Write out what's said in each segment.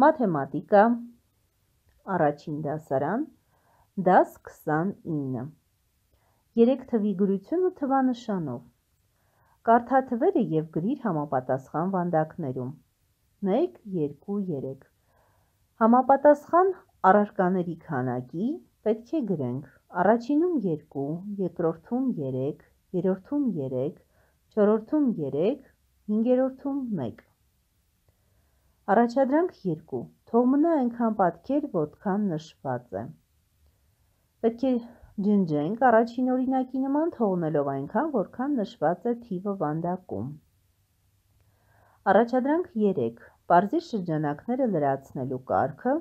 Մաթեմատիկա, առաջին դասարան, դաս 29, 3 թվի գրությունը թվանշանով, կարդա թվերը և գրիր համապատասխան վանդակներում, 1, 2, 3, համապատասխան առարկաների քանակի պետք է գրենք, առաջինում 2, երկրորդում 3, երրորդում 3, չորրորդում 3, հինգերորդում 1, Առաջադրանք 2. Թող մնա այնքան պատկեր, որքան նշված է։ Պետք է ջնջենք առաջին օրինակի նման թողնելով այնքան, որքան նշված է թիվը վանդակում։ Առաջադրանք 3. Պարզիր շրջանակները լրացնելու կարգը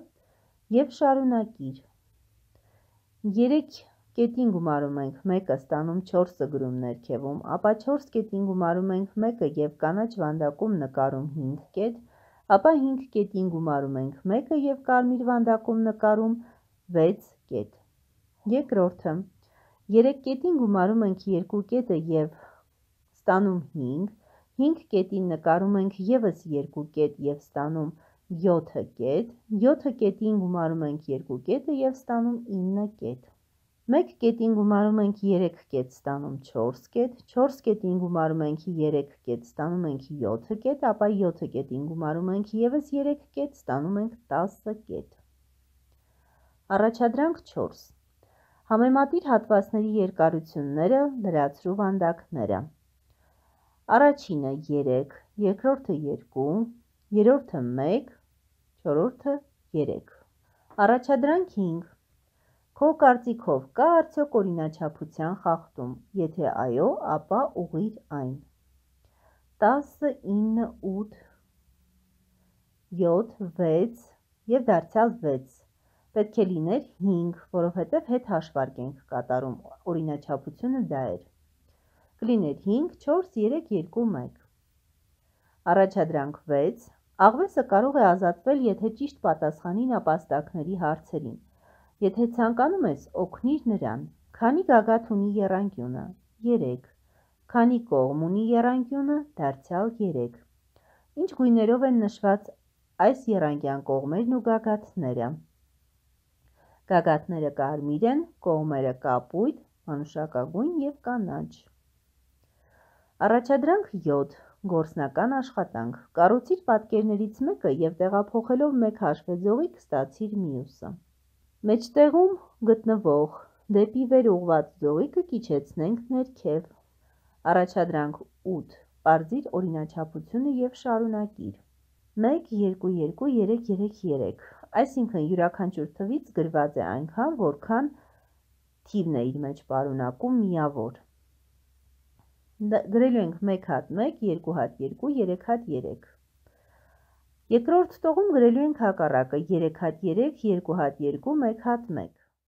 և շարունակիր։ 3 կետին գումարում ենք 1-ը, ստանում 4-ը գրում ներքևում, ապա 4 կետին գումարում ենք 1-ը և կանաչ վանդակում նկարում 5 կետ, ապա 5 կետին գումարում ենք 1-ը և կարմիր վանդակում նկարում 6 կետ։ Երկրորդը 3 կետին գումարում ենք 2 կետը և ստանում 5, 5 կետին նկարում ենք ևս 2 կետ և ստանում 7 կետ, 7 կետին գումարում ենք 2 կետը և ստանում 9 կետ։ 1 կետին գումարում ենք 3 կետ, ստանում 4 կետ, 4 կետին գումարում ենք 3 կետ, ստանում ենք 7 կետ, ապա 7 կետին գումարում ենք ևս 3 կետ, ստանում ենք 10 կետ։ Առաջադրանք 4. Համեմատիր հատվածների երկարությունները, լրացրու վանդակները։ Առաջինը 3, երկրորդը 2, երրորդը 1, չորրորդը 3։ Առաջադրանք 5. Քո կարծիքով կա արդյոք օրինաչափության խախտում, եթե այո, ապա ուղղիր այն։ 10, 9, 8, 7, 6 և դարձյալ 6, պետք է լիներ 5, որովհետև հետ հաշվարկ ենք կատարում, օրինաչափությունը դա էր, կլիներ 5, 4, 3, 2, 1։ Առաջադրանք 6, աղվեսը կարող է ազատվել, եթե ճիշտ պատասխանի նապաստակների հարցերին, եթե ցանկանում ես, օգնիր նրան, քանի գագաթ ունի եռանկյունը, 3, քանի կողմ ունի եռանկյունը, դարձյալ 3, ինչ գույներով են նշված այս եռանկյան կողմերն ու գագաթները, գագաթները կարմիր են, կողմերը կապույտ, մանուշակագույն և կանաչ։ Առաջադրանք 7. Գործնական աշխատանք, կառուցիր պատկերներից մեկը և տեղափոխելով մեկ հաշվեձողիկ ստացիր մյուսը։ Մեջտեղում գտնվող դեպի վեր ուղղված ձողիկը կիջեցնենք ներքև։ Առաջադրանք 8. Պարզիր օրինաչափությունը և շարունակիր։ 1, 2, 2, 3, 3, 3, այսինքն յուրաքանչյուր թվից գրված է այնքան, որքան թիվն է իր մեջ պարունակում միավոր։ Գրելու ենք 1 հատ 1, 2 հատ 2, 3 հատ 3։ Երկրորդ տողում գրելու ենք հակառակը 3 հատ 3, 2 հատ 2, 1 հատ 1։